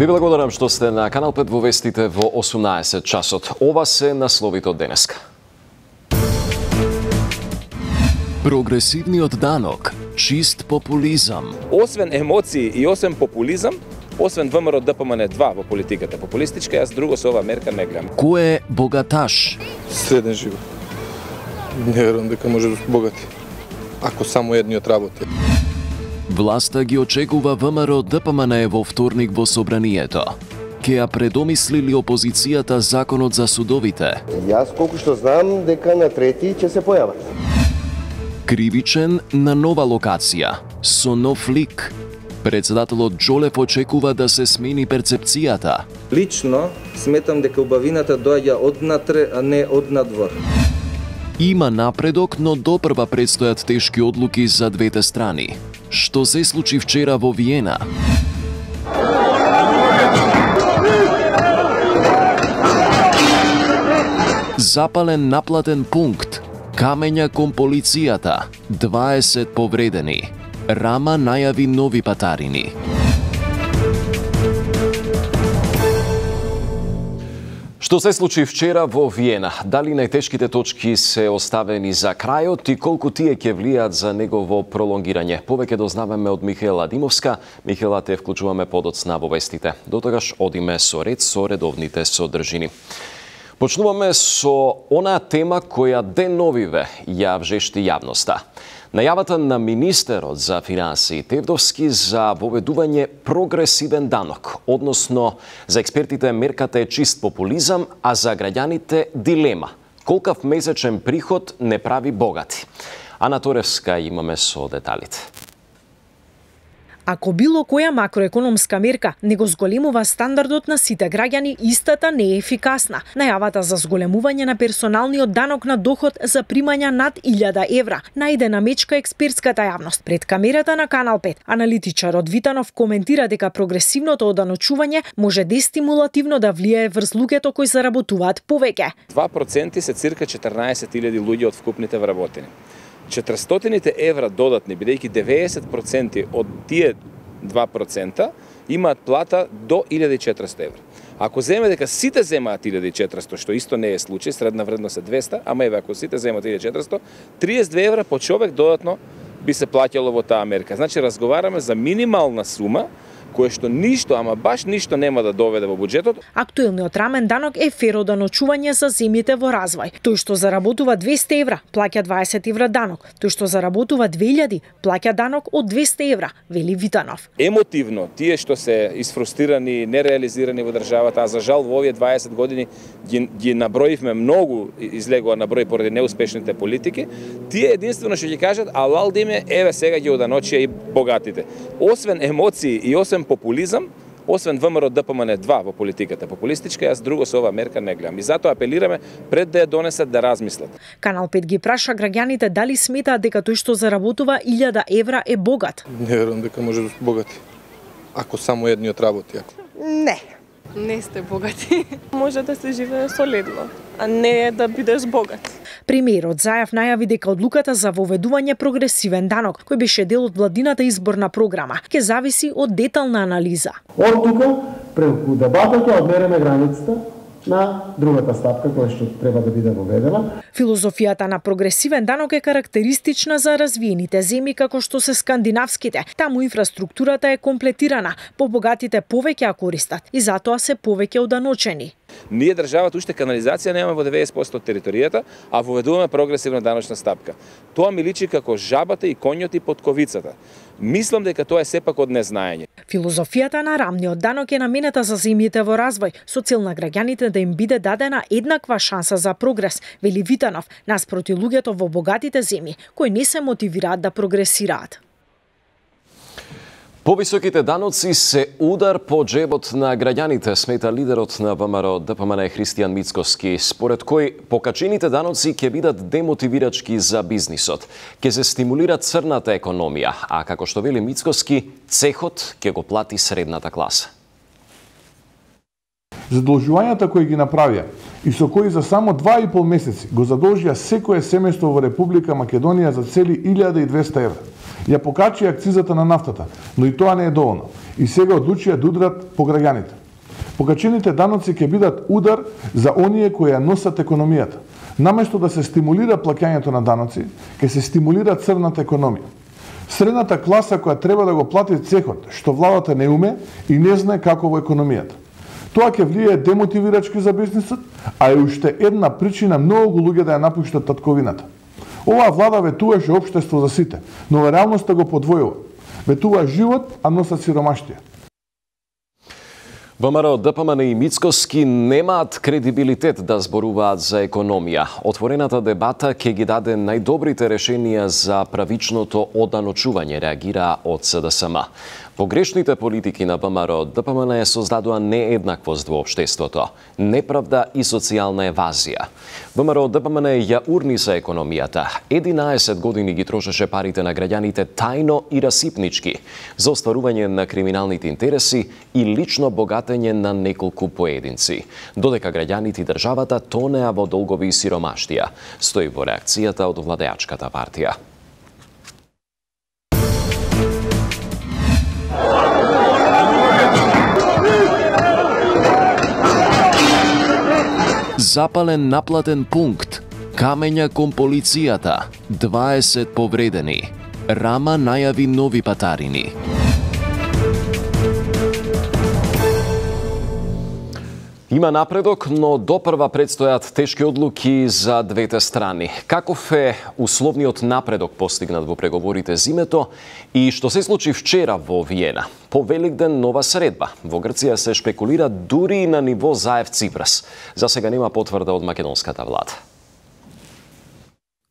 Ви благодарам што сте на Канал 5 во вестите во 18 часот. Ова се насловите од денеска. Прогресивниот данок, чист популизам. Освен емоции и освен популизам, освен ВМРО ДПМН 2 во политиката популистичка, јас друго со ова мерка не гледам. Кој е богаташ? Среден живот. Не верувам дека може да богати, ако само едниот работи. Власта ги очекува ВМРО ДПМН во вторник во собранието. Ке ја предомислили опозицијата законот за судовите. Јас колку што знам дека на 3 ќе се појават. Кривичен на нова локација, со нов лик. Председателот Џолев очекува да се смени перцепцијата. Лично сметам дека убавината доаѓа од натре, а не од надвор. Има напредок, но допрва предстојат тешки одлуки за двете страни. Што се случи вчера во Виена? Запален наплатен пункт. Камења кон полицијата. 20 повредени. Рама најави нови патарини. Што се случи вчера во Виена? Дали најтешките точки се оставени за крајот и колку тие ќе влијат за негово пролонгирање? Повеќе дознаваме од Михаела Димовска. Михаела, те вклучуваме подоцна во вестите. Дотогаш одиме со ред со редовните содржини. Почнуваме со онаа тема која деновиве ја вжешти јавноста. Најавата на министерот за финансии Тевдовски за воведување прогресивен данок, односно за експертите мерката е чист популизам, а за граѓаните дилема. Колкав месечен приход не прави богати? Ана Торевска имаме со деталите. Ако било која макроекономска мерка не го зголемува стандардот на сите граѓани, истата не е ефикасна. Најавата за зголемување на персоналниот данок на доход за примања над 1000 евра најде на мечка експертската јавност. Пред камерата на Канал 5, аналитичарот Витанов коментира дека прогресивното оданочување може дестимулативно да влијае врз луѓето кои заработуваат повеќе. 2% се цирка 14.000 луѓе од вкупните вработени. 400 евра додатни, бидејќи 90% од тие 2% имаат плата до 1400 евра. Ако земе дека сите земаат 1400, што исто не е случај, средна вредност е 200, ама еве ако сите земаат 1400, 32 евра по човек додатно би се плаќало во таа мерка. Значи разговараме за минимална сума кое што ништо, ама баш ништо нема да доведе во буџетот. Актуелниот рамен данок е фер оданочување за земјите во развој. Тој што заработува 200 евра, плаќа 20 евра данок. Тој што заработува 2000, плаќа данок од 200 евра, вели Витанов. Емотивно, тие што се исфрустирани, нереализирани во државата, а за жал во овие 20 години ги наброивме многу, излегува на број поради неуспешните политики, тие единствено што ќе кажат, алал диме, еве сега ги оданочија и богатите. Освен емоции и освен популизам, освен ВМРО ДПМН 2 во политиката популистичка, јас друго со ова мерка не гледам. И затоа апелираме пред да ја донесат да размислат. Канал 5 ги праша граѓаните дали сметаат дека тој што заработува 1000 евра е богат. Не верувам дека може да богати, ако само едниот работи. Не сте богати. Може да се живее солидно, а не да бидеш богат. Премиерот Заев најави дека одлуката за воведување прогресивен данок, кој беше дел од владината изборна програма, ќе зависи од детална анализа. Од тука, преку дебата ќе одмереме границата на другата стапка која што треба да биде воведена. Филозофијата на прогресивен данок е карактеристична за развиените земји како што се скандинавските. Таму инфраструктурата е комплетирана, побогатите повеќе ја користат и затоа се повеќе оданочени. Ние државата уште канализација немаме во 90% од територијата, а воведуваме прогресивна даночна стапка. Тоа ми личи како жабата и коњот под ковицата. Мислам дека тоа е сепак од незнаење. Филозофијата на рамниот данок е наменета за земјите во развој, со цел на граѓаните да им биде дадена еднаква шанса за прогрес, вели Витанов, наспроти луѓето во богатите земји, кои не се мотивираат да прогресираат. Повисоките даноци се удар по джебот на граѓаните, смета лидерот на ВМРО ДПМН Христијан Мицкоски, според кој покачените даноци ќе бидат демотивирачки за бизнисот, ќе се стимулира црната економија, а како што вели Мицкоски, цехот ќе го плати средната класа. Задолжувањата кои ги направија и со кои за само 2,5 месеци го задолжија секое семејство во Република Македонија за цели 1200 евра. Ја покачи акцизата на нафтата, но и тоа не е доволно. и сега одлучија да удрат по граѓаните. Покачените даноци ќе бидат удар за оние кои ја носат економијата. Наместо да се стимулира плаќањето на даноци, ќе се стимулира црната економија. Средната класа која треба да го плати цехот, што владата не уме и не знае како во економијата. Тоа ќе влијае демотивирачки за бизнисот, а е уште една причина многу луѓе да ја напуштат татковината. Оваа влада ветуваше општество за сите, но во реалноста го подвојува. Ветува живот, а носат сиромаштија. ВМРО, ДПМН и Мицкоски немаат кредибилитет да зборуваат за економија. Отворената дебата ќе ги даде најдобрите решенија за правичното оданочување, реагира од СДСМ. Погрешните политики на ВМРО, ДПМН создадува нееднаквост во општеството, неправда и социјална евазија. ВМРО, ДПМН ја урни за економијата. 11 години ги трошеше парите на граѓаните тајно и расипнички за остварување на криминалните интереси и лично богатење на неколку поединци, додека граѓаните и државата тонеа во долгови и сиромаштија, стои во реакцијата од владеачката партија. Запален наплатен пункт, камења кон полицијата, 20 повредени. Рама најави нови патарини. Има напредок, но допрва предстојат тешки одлуки за двете страни. Каков е условниот напредок постигнат во преговорите зимето и што се случи вчера во Виена? По Великден нова средба. Во Грција се шпекулира дури и на ниво Заев-Ципрас. За сега нема потврда од македонската влада.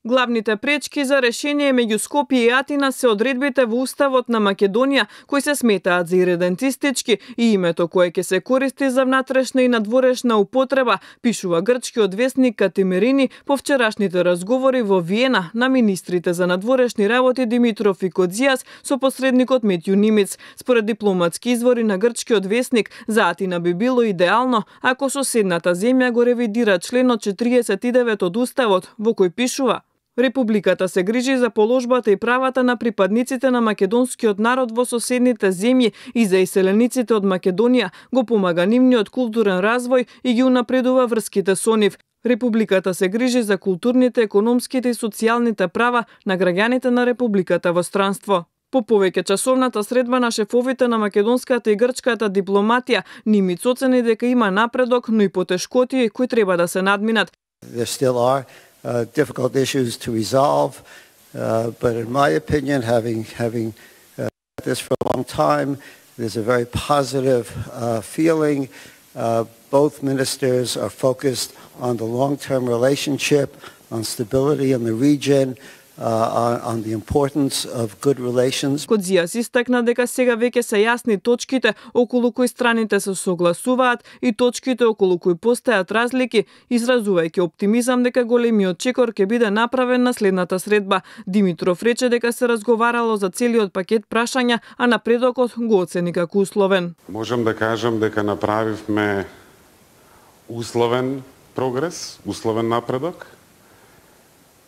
Главните пречки за решение меѓу Скопје и Атина се одредбите во Уставот на Македонија, кои се сметаат за иредентистички и името кое ќе се користи за внатрешна и надворешна употреба, пишува грчкиот весник Катимерини по вчерашните разговори во Виена на министрите за надворешни работи Димитров и Кодзијас со посредникот Метју Нимиц. Според дипломатски извори на грчкиот весник, за Атина би било идеално ако соседната земја го ревидира членот 49 од Уставот, во кој пишува: Републиката се грижи за положбата и правата на припадниците на македонскиот народ во соседните земји и за иселениците од Македонија, го помага нивниот културен развој и ги унапредува врските со нив. Републиката се грижи за културните, економските и социјалните права на граѓаните на Републиката во странство. По повеќе часовната средба на шефовите на македонската и грчката дипломатија, Нимиц оцени дека има напредок, но и потешкотии кои треба да се надминат. Difficult issues to resolve, but in my opinion, having this for a long time, there's a very positive feeling. Both ministers are focused on the long-term relationship, on stability in the region, on the importance of good relations. Кодзијас истакна дека сега веќе се јасни точките околу кои страните се согласуваат и точките околу кои постојат разлики, изразувајќи оптимизам дека големиот чекор ќе биде направен на следната средба. Димитров рече дека се разговарало за целиот пакет прашања, а напредокот го оцени како условен. Можам да кажам дека направивме условен прогрес, условен напредок,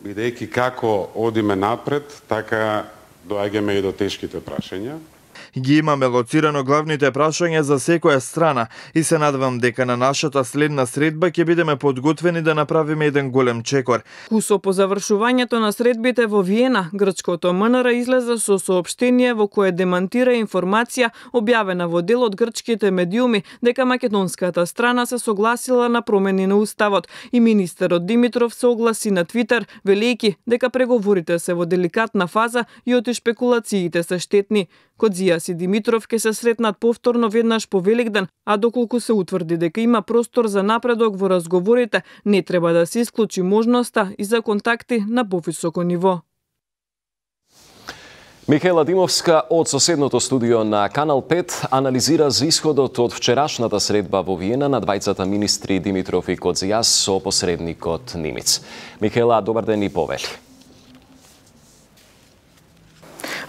бидејќи како одиме напред, така доаѓаме и до тешките прашања. Ги имаме лоцирано главните прашања за секоја страна и се надевам дека на нашата следна средба ќе бидеме подготвени да направиме еден голем чекор. Кусо по завршувањето на средбите во Виена, грчкото МНР излезе со соопштение во кое демантира информација објавена во дел од грчките медиуми дека македонската страна се согласила на промени на уставот и министерот Димитров се огласи на Твитер велејќи дека преговорите се во деликатна фаза и оти шпекулациите се штетни. Кодзијас и Димитров ќе се сретнат повторно веднаш по Великден, а доколку се утврди дека има простор за напредок во разговорите, не треба да се исклучи можноста и за контакти на повисоко ниво. Михаела Димовска од соседното студио на Канал 5 анализира за исходот од вчерашната средба во Виена на двајцата министри Димитров и Кодзијас со посредникот Нимиц. Михаела, добар ден и повели.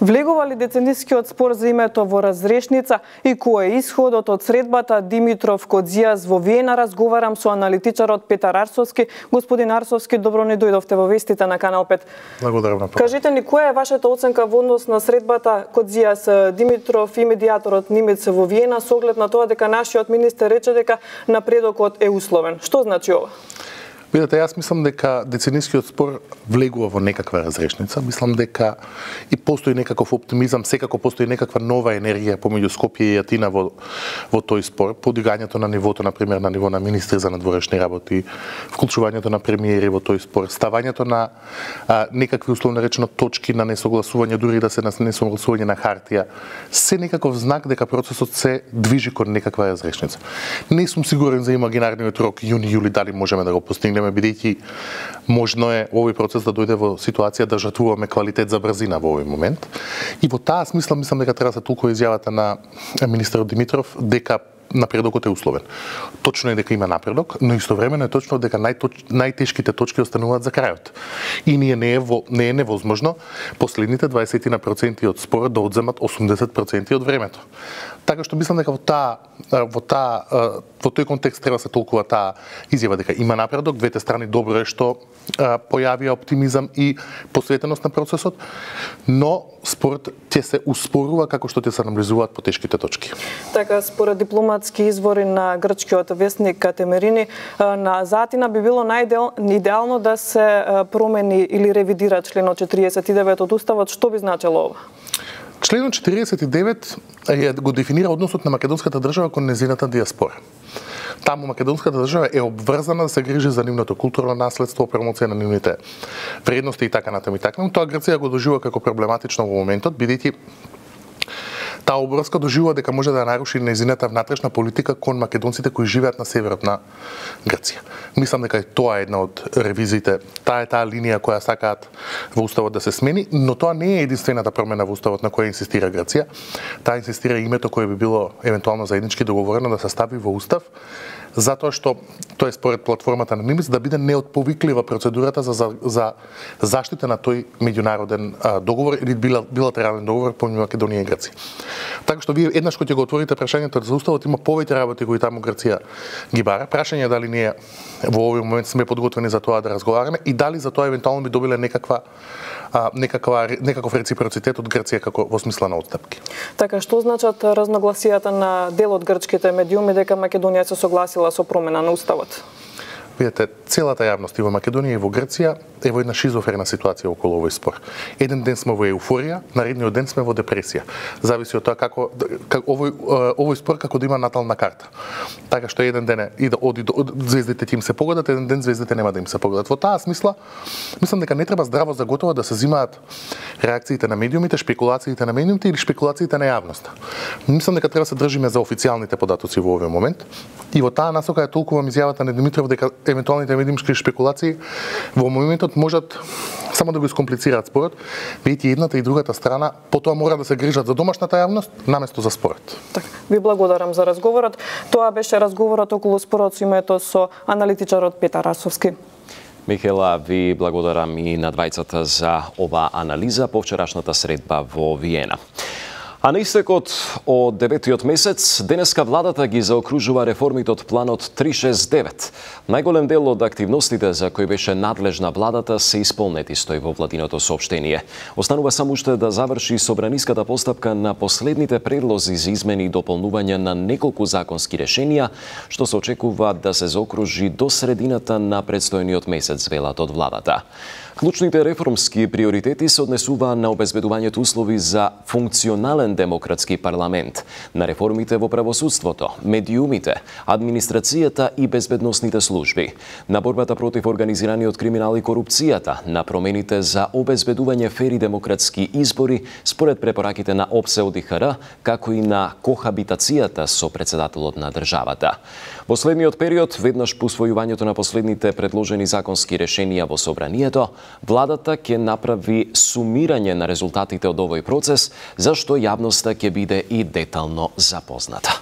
Влегува ли деценискиот спор за името во разрешница и кој е исходот од средбата Димитров Кодзијас во Виена? Разговарам со аналитичарот Петар Арсовски. Господин Арсовски, добро ни дојдовте во вестите на Канал 5. Благодарам на Кажете ни, која е вашата оценка во однос на средбата Кодзијас Димитров и медијаторот Нимец во Виена, со оглед на тоа дека нашиот министер рече дека напредокот е условен? Што значи ова? Видете, јас мислам дека деценискиот спор влегува во некаква разрешница. Мислам дека и постои некаков оптимизам, секако постои некаква нова енергија помеѓу Скопје и Атина во тој спор. Подигањето на нивото, например, на ниво на министри за надворешни работи, вклучувањето на премиери во тој спор, ставањето на некакви условно речено точки на несогласување, дури да се на несогласување на хартија, се некаков знак дека процесот се движи кон некаква разрешница. Не сум сигурен за имагинарниот рок јуни-јули дали можеме да го постигнеме, бидејќи можно е овој процес да дојде во ситуација да жртвуваме квалитет за брзина во овој момент. И во таа смисла мислам дека треба да се толкува изјавата на министерот Димитров дека напредокот е условен. Точно е дека има напредок, но истовремено е точно дека најтешките точки остануваат за крајот. И не е невозможно последните 20% од спорот да одземат 80% од времето. Така што мислам дека во тој контекст треба се толкува таа изјава дека има напредок, двете страни добро е што појавија оптимизам и посветеност на процесот, но спорот ќе се успорува како што ќе се наближуваат потешките точки. Така, според дипломатски извори на грчкиот весник Катемерини, на Атина би било најидеално да се промени или ревидира членот 49 од Уставот. Што би значило ова? Членот 49 го дефинира односот на македонската држава кон нејзината диаспора. Таму македонската држава е обврзана да се грижи за нивното културно наследство, промоција на нивните вредности и така натаму и така. Тоа Грција го доживува како проблематично во моментот, бидејќи таа обврска доживува дека може да наруши нејзината внатрешна политика кон македонците кои живеат на северот на Грција. Мислам дека и тоа е една од ревизиите. Таа е таа линија која сакаат во Уставот да се смени, но тоа не е единствената промена во Уставот на која инсистира Грција. Таа инсистира името кое би било евентуално заеднички договорено да се стави во Устав, затоа што тоа е според платформата на Нимец да биде неотповиклива процедурата за заштита на тој меѓународен договор или билатерален договор помеѓу Македонија и Грција. Така што вие еднаш кога ќе го отворите прашањето за Уставот, има повеќе работи кои таму Грција ги бара. Прашање е дали ние во овој момент сме подготвени за тоа да разговараме и дали за тоа евентуално би добиле некаков реципроцитет од Грција како во смисла на отстапки. Така, што значат разногласијата на дел од грчките медиуми дека Македонија се согласила со промена на Уставот? Видете, целата јавност и во Македонија и во Грција е во една шизофрена ситуација околу овој спор. Еден ден сме во еуфорија, наредниот ден сме во депресија. Зависи од тоа како овој спор како да има натална карта. Така што еден ден звездите ќе им се погодат, еден ден звездите нема да им се погодат. Во таа смисла, мислам дека не треба здраво за готово да се взимаат реакциите на медиумите, шпекулациите на медиумите или шпекулациите на јавноста. Мислам дека треба се држиме за официјалните податоци во овој момент. И во таа насока ја толкувам изјавата на Димитров дека евентуалните медиумски шпекулации во моментот можат само да го искомплицираат спорот, бидејќи едната и другата страна потоа мора да се грижат за домашната јавност наместо за спорот. Така, ви благодарам за разговорот. Тоа беше разговорот околу спорот со името со аналитичарот Петар Арсовски. Михела, ви благодарам и на двајцата за оваа анализа по вчерашната средба во Виена. А на истекот од 9-тиот месец, денеска владата ги заокружува реформите од планот 369. Најголем дел од активностите за кои беше надлежна владата се исполнети, стои во владиното соопштение. Останува само уште да заврши собраниската постапка на последните предлози за измени и дополнување на неколку законски решенија, што се очекува да се заокружи до средината на предстојниот месец, велат од владата. Клучните реформски приоритети се однесуваа на обезбедувањето услови за функционален демократски парламент, на реформите во правосудството, медиумите, администрацијата и безбедносните служби, на борбата против организираниот криминал и корупцијата, на промените за обезбедување фери демократски избори според препораките на ОПСЕ ОДИХР, како и на кохабитацијата со претседателот на државата. Во следниот период, веднаш по усвојувањето на последните предложени законски решенија во собранието, владата ќе направи сумирање на резултатите од овој процес, зашто јавноста ќе биде и детално запозната.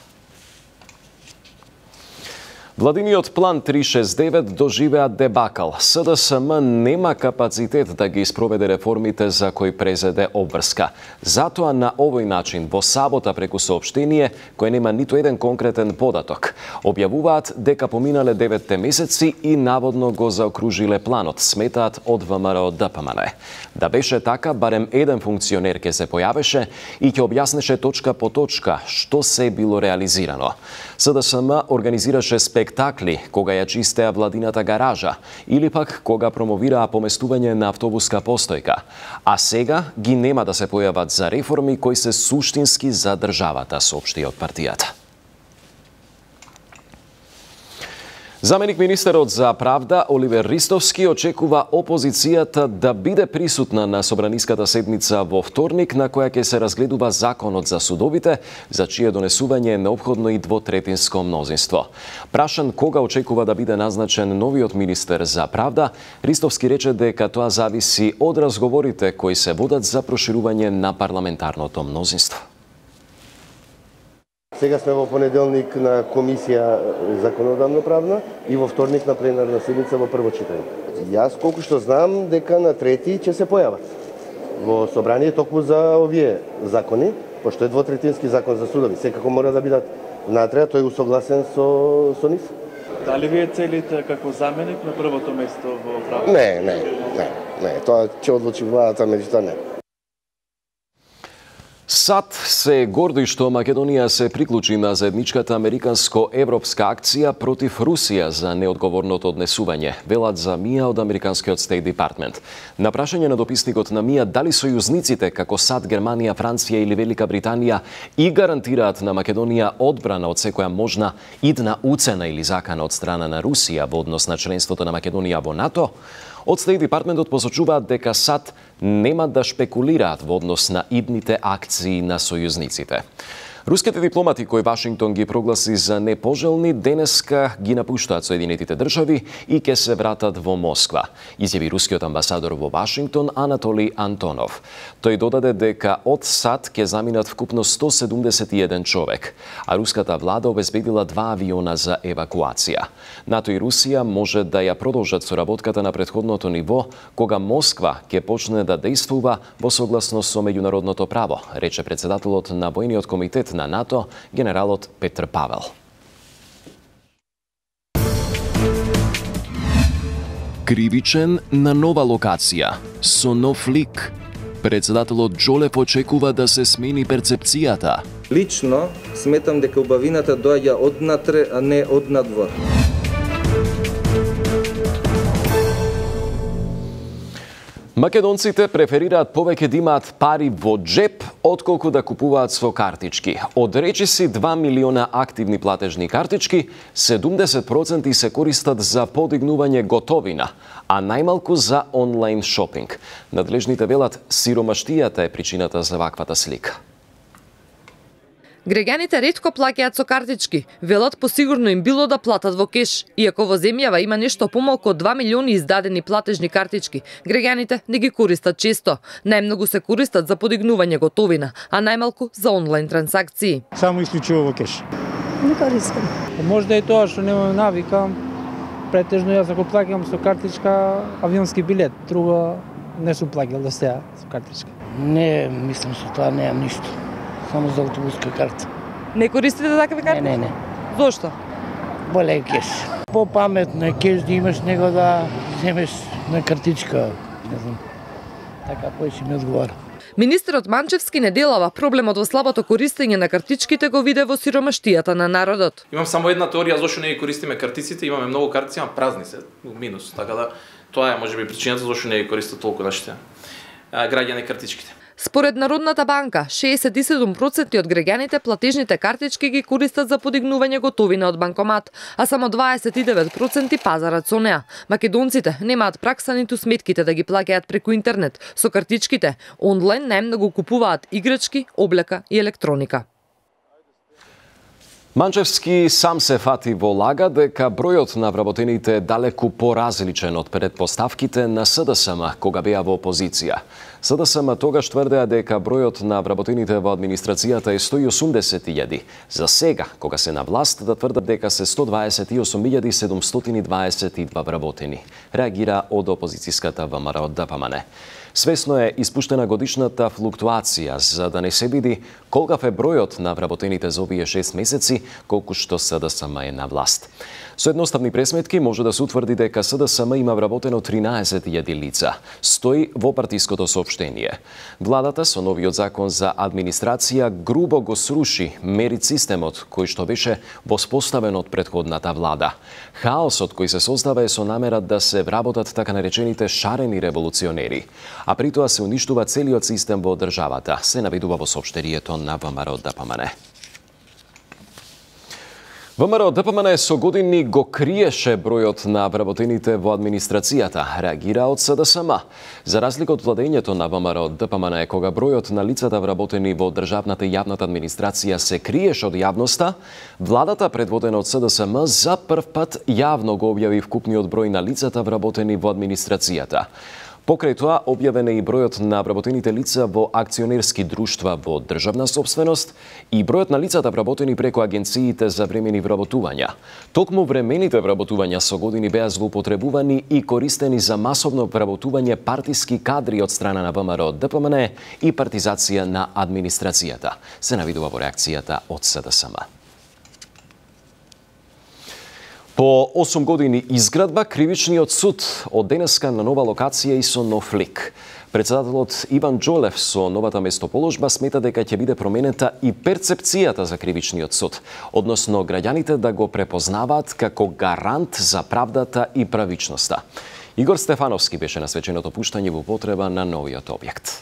Владиниот план 369 доживеа дебакал. СДСМ нема капацитет да ги спроведе реформите за кои презеде обврска. Затоа на овој начин во сабота преку соопштение кој нема ниту еден конкретен податок објавуваат дека поминале 9 месеци и наводно го заокружиле планот, сметаат од ВМРО ДПМН. Да беше така, барем еден функционер ќе се појавеше и ќе објаснеше точка по точка што се било реализирано. СДСМ организираше спектакли кога ја чистеа владината гаража или пак кога промовираа поместување на автобуска постојка. А сега ги нема да се појават за реформи кои се суштински за државата, соопшти од партијата. Заменик министерот за правда Оливер Ристовски очекува опозицијата да биде присутна на собраниската седница во вторник, на која ќе се разгледува законот за судовите, за чие донесување е неопходно и двотретинско мнозинство. Прашан кога очекува да биде назначен новиот министер за правда, Ристовски рече дека тоа зависи од разговорите кои се водат за проширување на парламентарното мнозинство. Сега сме во понеделник на комисија законодавно правна и во вторник на пленарна седница во прво читање. Јас колку што знам дека на трети ќе се појават во собрание токму за овие закони, пошто е двотретински закон за судови, секако мора да бидат внатре, тој е усогласен со нив. Дали вие целите како заменик на првото место во правда? Не, тоа ќе одлучи владата, меѓутоа не. САД се горди што Македонија се приклучи на заедничката американско-европска акција против Русија за неодговорното однесување, велат за МИА од Американскиот Стейт Департмент. На прашање на дописникот на МИА дали сојузниците како САД, Германија, Франција или Велика Британија и гарантираат на Македонија одбрана од секоја можна идна уцена или закана од страна на Русија во однос на членството на Македонија во НАТО, од Стейт Департментот посочуваат дека САД нема да шпекулираат во однос на идните акции на сојузниците. Руските дипломати кои Вашингтон ги прогласи за непожелни денеска ги напуштаат Соединетите држави и ќе се вратат во Москва, изјави рускиот амбасадор во Вашингтон Анатолий Антонов. Тој додаде дека од САД ќе заминат вкупно 171 човек, а руската влада обезбедила 2 авиона за евакуација. НАТО и Русија може да ја продолжат соработката на претходното ниво кога Москва ќе почне да действува во согласност со меѓународното право, рече председателот на војниот комитет на НАТО, генералот Петр Павел. Кривичен на нова локација, со нов лик. Председателот Джолев очекува да се смени перцепцијата. Лично сметам дека убавината доаѓа однатре, а не од надвор. Македонците преферираат повеќе да имаат пари во джеп, отколку да купуваат со картички. Од речиси 2 милиона активни платежни картички, 70% се користат за подигнување готовина, а најмалку за онлайн шопинг. Надлежните велат сиромаштијата е причината за ваквата слика. Граѓаните ретко плаќаат со картички, велат посигурно им било да платат во кеш. Иако во земјава има нешто помалку од 2 милиони издадени платежни картички, граѓаните не ги користат често. Најмногу се користат за подигнување готовина, а најмалку за онлайн трансакции. Само исклучиво во кеш. Не користам. Можда и тоа што немам навика, претежно јас ако плаќам со картичка авионски билет, друго не сум плаќал до сега со картичка. Не, мислам со тоа немам ништо. Само за автобуска карта. Не користите такви карти? Не. Зошто? Боле е кеш. Попаметно е кеш да имаш него да земеш на картичка. Не знам. Така појше ми одговара. Министерот Манчевски неделава проблемот во слабото користење на картичките го виде во сиромаштијата на народот. Имам само една теорија зошто не ги користиме картиците, имаме многу картици, ама празни се, минус, така да тоа е можеби причината зошто не ги користат толку нашите граѓани картичките. Според Народната банка, 67% од граѓаните платежните картички ги користат за подигнување готовина од банкомат, а само 29% пазарат со неа. Македонците немаат пракса ниту сметките да ги плаќаат преку интернет. Со картичките онлайн најмногу купуваат играчки, облека и електроника. Манчевски сам се фати во лага дека бројот на вработените е далеку поразличен од предпоставките на СДСМ кога беа во опозиција. СДСМ тогаш тврдеа дека бројот на вработените во администрацијата е 180.000. За сега, кога се на власт, да тврдат дека се 128.722 вработени. Реагира од опозицијската ВМРО ДПМН. Свесно е испуштена годишната флуктуација за да не се види колкав е бројот на вработените за овие 6 месеци, колку што СДСМ е на власт. Со едноставни пресметки може да се утврди дека СДСМ има вработено 13.000 лица, стои во партиското соопштение. Владата со новиот закон за администрација грубо го сруши мерит системот кој што беше воспоставен од претходната влада. Хаосот кој се создава е со намера да се вработат така наречените шарени револуционери, а при тоа се уништува целиот систем во државата, се наведува во соопштението на ВМРО ДПМН. ВМРО ДПМН со години го криеше бројот на вработените во администрацијата, реагира од СДСМ. За разлика од владењето на ВМРО ДПМН, кога бројот на лицата вработени во државната и јавната администрација се криеше од јавноста, владата предводена од СДСМ за прв пат јавно го објави вкупниот број на лицата вработени во администрацијата. Покрај тоа, објавен е и бројот на вработените лица во акционерски друштва во државна собственост и бројот на лицата вработени преку агенциите за времени вработувања. Токму времените вработувања со години беа злоупотребувани и користени за масовно вработување партиски кадри од страна на ВМРО ДПМН и партизација на администрацијата, се навидува во реакцијата од СДСМ. По 8 години изградба, Кривичниот суд од денеска на нова локација и со нов лик. Председателот Иван Џолев со новата местоположба смета дека ќе биде променета и перцепцијата за Кривичниот суд, односно граѓаните да го препознаваат како гарант за правдата и правичноста. Игор Стефановски беше на свеченото пуштање во употреба на новиот објект.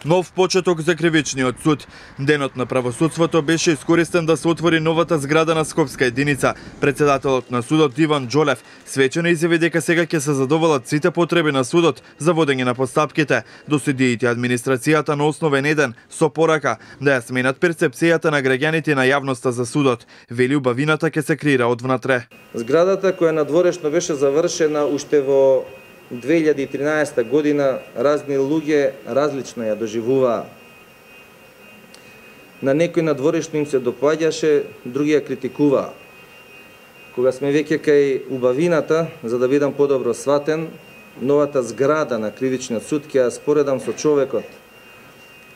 Нов почеток за Кривичниот суд. Денот на правосудството беше искористен да се отвори новата зграда на Скопска единица. Председателот на судот Иван Џолев свечено изјави дека сега ќе се задоволат сите потреби на судот за водење на постапките до судиите администрацијата на основен еден со порака да ја сменат перцепцијата на граѓаните на јавноста за судот. Вели убавината ќе се креира од внатре. Зградата која надворешно беше завршена уште во 2013 година, разни луѓе различно ја доживуваа. На некој надворешно им се допаѓаше, други ја критикуваа. Кога сме веќе кај убавината, за да бидам подобро сватен, новата зграда на Кривичниот суд ќе ја споредам со човекот.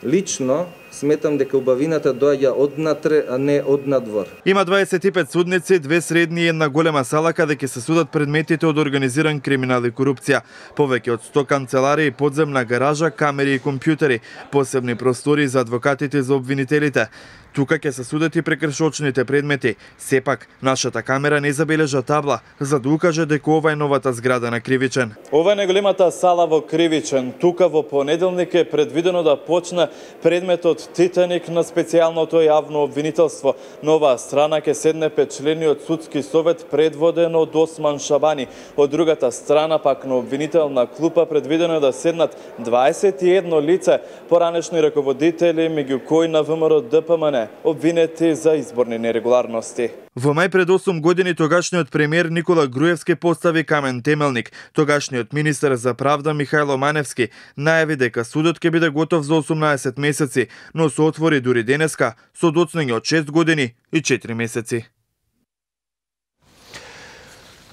Лично сметам дека убавината доаѓа однатре, а не од надвор. Има 25 судници, 2 средни и една голема сала каде ќе се судат предметите од организиран криминал и корупција. Повеќе од 100 канцеларии, подземна гаража, камери и компјутери, посебни простори за адвокатите и за обвинителите. Тука ќе се судат и прекршочните предмети. Сепак, нашата камера не забележа табла за да укаже дека ова е новата зграда на Кривичен. Ова е најголемата сала во Кривичен. Тука во понеделник е предвидено да почне предметот Титаник на специјалното јавно обвинителство. На оваа страна ќе седне петчлениот судски совет предводен од Осман Шабани. Од другата страна пак на обвинителна клупа предвидено е да седнат 21 лице, поранешни раководители, меѓу кои на ВМРО ДПМН, обвинети за изборни нерегуларности. Во мај пред 8 години тогашниот премиер Никола Груевски постави камен темелник. Тогашниот министер за правда Михајло Маневски најави дека судот ќе биде готов за 18 месеци, но се отвори дури денеска со доцнење од 6 години и 4 месеци.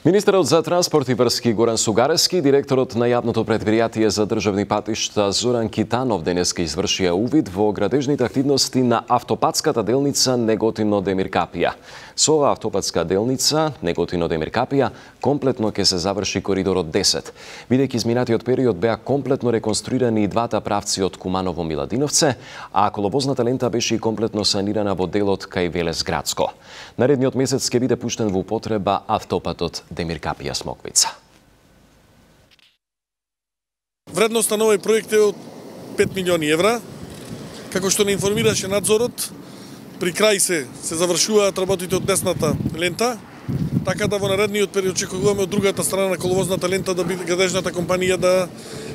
Министерот за транспорт и врски Горан Сугарески, директорот на јавното претпријатие за државни патишта Зоран Китанов денеска извршија увид во градежните активности на автопатската делница Неготино-Демир Капија. Со оваа автопатска делница Неготино-Демир Капија комплетно ќе се заврши коридорот 10, бидејќи изминатиот период беа комплетно реконструирани и двата правци од Куманово-Миладиновце, а коловозната лента беше и комплетно санирана во делот кај Велес Градско. Наредниот месец ќе биде пуштен во употреба автопатот Демир Капија Смоквица. Вредноста на овој проект е од 5 милиони евра. Како што не информираше надзорот, при крај се завршуваат работите од десната лента, така да во наредниот период очекуваме од другата страна на коловозната лента да биде градежната компанија да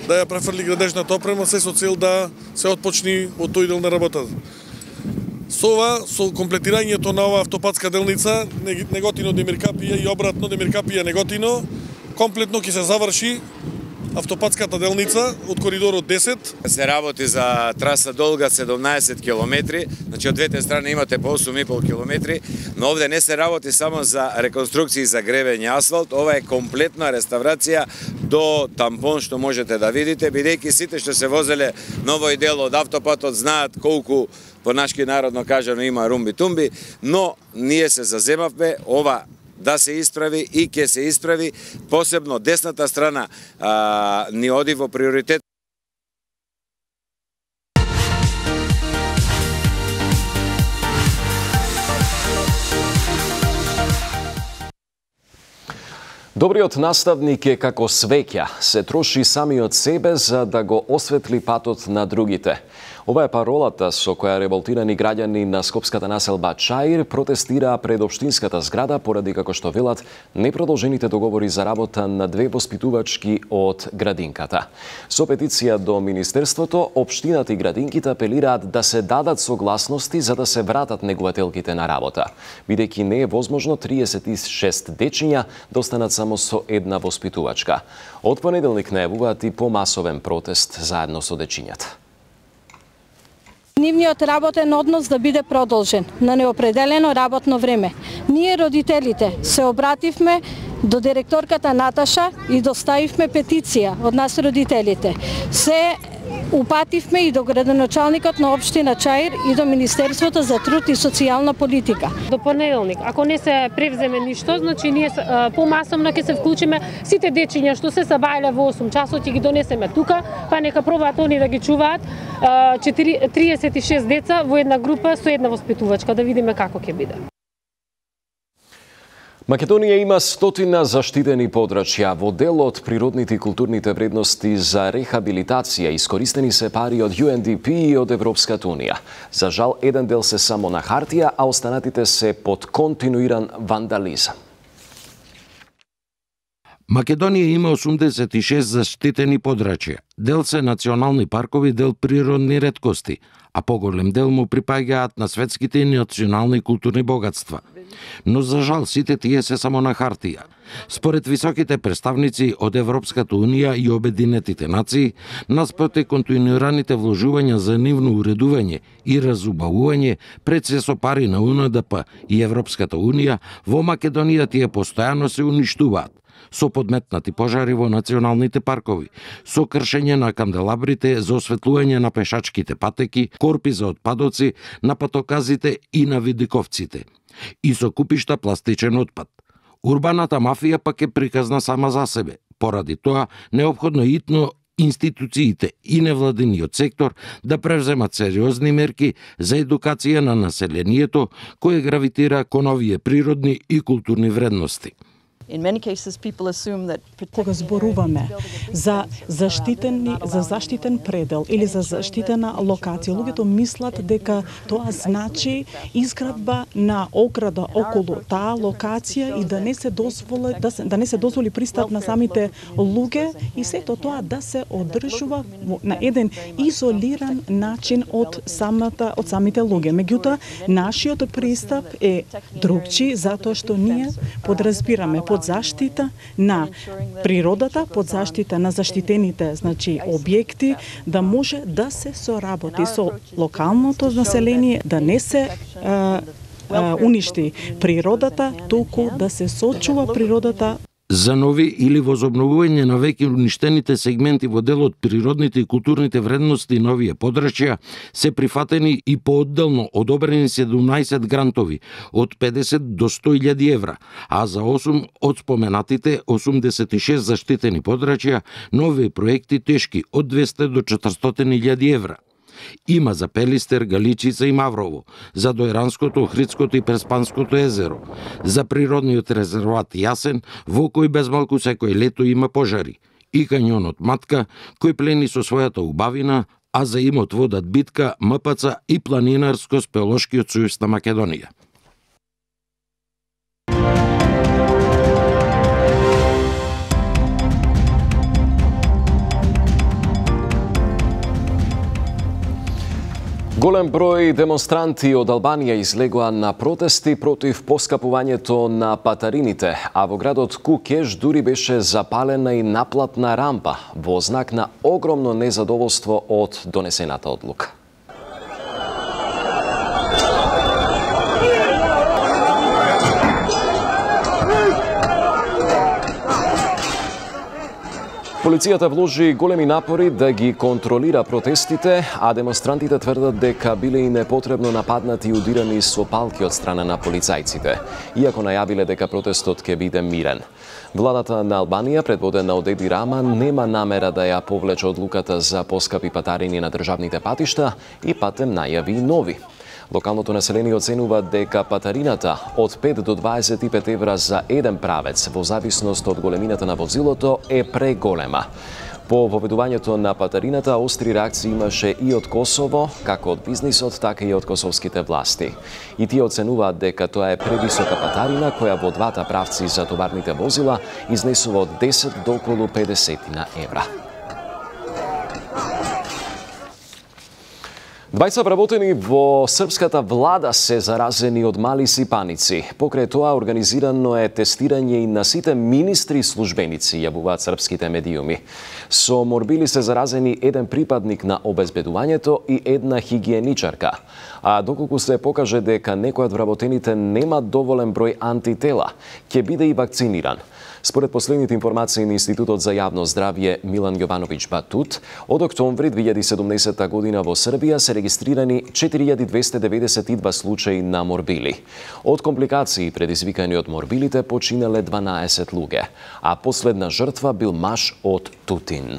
ја префрли градежната опрема, се со цел да се отпочни од тој дел на работата. Со ова, со комплетирањето на ова автопатска делница, Неготино-Демиркапија и обратно Демиркапија-Неготино, комплетно ќе се заврши автопатската делница од коридорот 10. Се работи за траса долга 17 километри, значи од двете страни имате по 8,5 километри, но овде не се работи само за реконструкција за гребење асфалт, ова е комплетна реставрација до тампон што можете да видите, бидејќи сите што се возеле на овој дел од автопатот знаат колку по нашки народно кажано има румби-тумби, но ние се заземавме ова да се исправи и ќе се исправи, посебно десната страна ни оди во приоритет. Добриот наставник е како свеќа, се троши самиот себе за да го осветли патот на другите. Ова е паролата со која револтирани граѓани на скопската населба Чаир протестираа пред општинската зграда поради, како што велат, непродолжените договори за работа на две воспитувачки од градинката. Со петиција до Министерството, општината и градинките апелираат да се дадат согласности за да се вратат негувателките на работа, бидејќи не е возможно 36 дечиња да останат само со една воспитувачка. Од понеделник најавуваат и помасовен протест заедно со дечињата. Нивниот работен однос да биде продолжен на неопределено работно време. Ние, родителите, се обративме до директорката Наташа и доставивме петиција од нас родителите. Се упативме и до градоначалникот на општина Чаир и до Министерството за труд и социјална политика. До понеделник, ако не се превземе ништо, значи ние помасовно ќе се вклучиме сите дечиња што се сабајале во 8 часот и ги донесеме тука, па нека пробаат они да ги чуваат 36 деца во една група со една воспитувачка, да видиме како ќе биде. Македонија има 100 заштитени подрачја. Во дел од природните и културните вредности за рехабилитација искористени се пари од UNDP и од Европската унија. За жал, еден дел се само на хартија, а останатите се под континуиран вандализам. Македонија има 86 заштитени подрачја. Дел се национални паркови, дел природни реткости, а поголем дел му припаѓаат на светските и национални културни богатства. Но за жал сите тие се само на хартија. Според високите представници од Европската унија и Обединетите нации, наспроти континуираните вложувања за нивно уредување и разубавување пред се со пари на УНДП и Европската унија, во Македонија тие постојано се уништуваат со подметнати пожари во националните паркови, со кршење на канделабрите за осветлување на пешачките патеки, корпи за отпадоци, на патоказите и на видиковците, и со купишта пластичен отпад. Урбаната мафија пак е приказна сама за себе. Поради тоа, неопходно итно институциите и невладиниот сектор да превземат сериозни мерки за едукација на населението кое гравитира кон овие природни и културни вредности. Кога зборуваме за заштитен предел или за заштитена локација, луѓето мислат дека тоа значи изградба на ограда околу таа локација и да не се дозволи пристап на самите луѓе и сето тоа да се одржува на еден изолиран начин од самите луѓе. Меѓутоа, нашиот пристап е другчи затоа што ние подразбираме под заштита на природата, под заштита на заштитените, значи, објекти, да може да се соработи со локалното население, да не се уништи природата, туку да се сочува природата. За нови или возобновување на веќе уништените сегменти во делот природните и културните вредности на овие подрачја се прифатени и поодделно одобрени 17 грантови од 50 до 100.000 евра, а за 8 од споменатите 86 заштитени подрачја нови проекти тешки од 200 до 400.000 евра. Има за Пелистер, Галичица и Маврово, за Дојранското, Охридското и Преспанското езеро, за природниот резерват Јасен, во кој безмалку секој лето има пожари, и кањонот Матка, кој плени со својата убавина, а за имот водат битка, МПЦ и Планинарско-спелошкиот сојуз на Македонија. Голем број демонстранти од Албанија излегоа на протести против поскапувањето на патарините, а во градот Кукеш дури беше запалена и наплатна рампа во знак на огромно незадоволство од донесената одлука. Полицијата вложи големи напори да ги контролира протестите, а демонстрантите тврдат дека биле и непотребно нападнати и удирани со палки од страна на полицајците, иако најавиле дека протестот ќе биде мирен. Владата на Албанија, предводена од Еди Рама, нема намера да ја повлече одлуката за поскапи патарини на државните патишта и патем најави и нови. Локалното население оценува дека патарината од 5 до 25 евра за еден правец, во зависност од големината на возилото, е преголема. По воведувањето на патарината, остри реакции имаше и од Косово, како од бизнисот, така и од косовските власти. И тие оценуваат дека тоа е превисока патарина, која во двата правци за товарните возила изнесува од 10 до околу 50 евра. 20 вработени во српската влада се заразени од мали сипаници. Покрај тоа организирано е тестирање и на сите министри и службеници, јавуваат српските медиуми. Со морбили се заразени еден припадник на обезбедувањето и една хигиеничарка. А доколку се покаже дека некој од вработените нема доволен број антитела, ќе биде и вакциниран. Според последните информации на Институтот за јавно здравје Милан Јовановиќ Батут, од октомври 2017 година во Србија се регистрирани 4292 случаи на морбили. Од компликации предизвикани од морбилите починале 12 луѓе, а последна жртва бил маж од Тутин.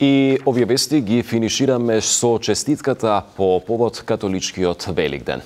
И овие вести ги финишираме со честитката по повод католичкиот Великден.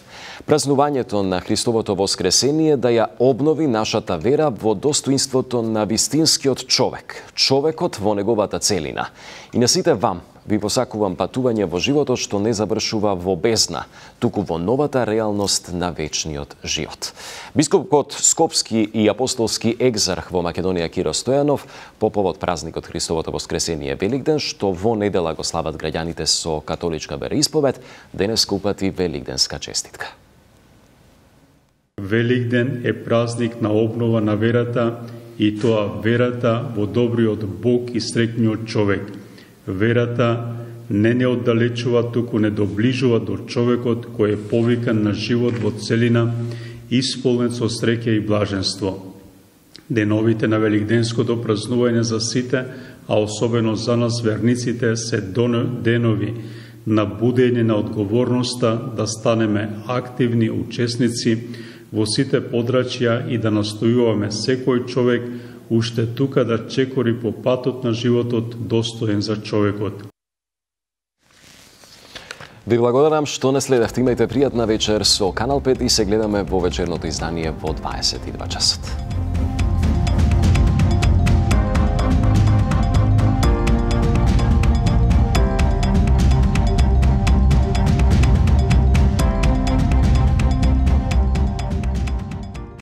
Празнувањето на Христовото воскресение да ја обнови нашата вера во достоинството на вистинскиот човек, човекот во неговата целина. И на сите вам ви посакувам патување во животот што не завршува во бездна, туку во новата реалност на вечниот живот. Бископот Скопски и апостолски екзарх во Македонија Киро Стојанов по повод празникот Христовото воскресение Великден, што во недела го слават граѓаните со католичка вероисповед, денес упати великденска честитка. Великден е празник на обнова на верата и тоа верата во добриот Бог и среќниот човек. Верата не оддалечува, туку не доближува до човекот кој е повикан на живот во целина, исполнет со среќа и блаженство. Деновите на великденското празнување за сите, а особено за нас верниците, се денови на будење на одговорноста да станеме активни учесници во сите подрачја и да настојуваме секој човек уште тука да чекори по патот на животот достоен за човекот. Ви благодарам што не следевте. Имајте пријатна вечер со Канал 5 и се гледаме во вечерното издание во 22 часот.